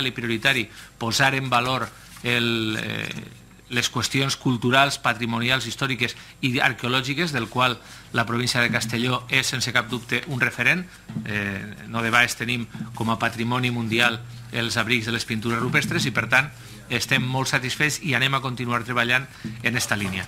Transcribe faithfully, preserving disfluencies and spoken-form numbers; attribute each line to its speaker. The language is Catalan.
Speaker 1: i prioritari posar en valor el, eh, les qüestions culturals, patrimonials, històriques i arqueològiques, del qual la província de Castelló és, sense cap dubte, un referent. Eh, no de baix tenim com a patrimoni mundial els abrics de les pintures rupestres i, per tant, estem molt satisfets i anem a continuar treballant en aquesta línia.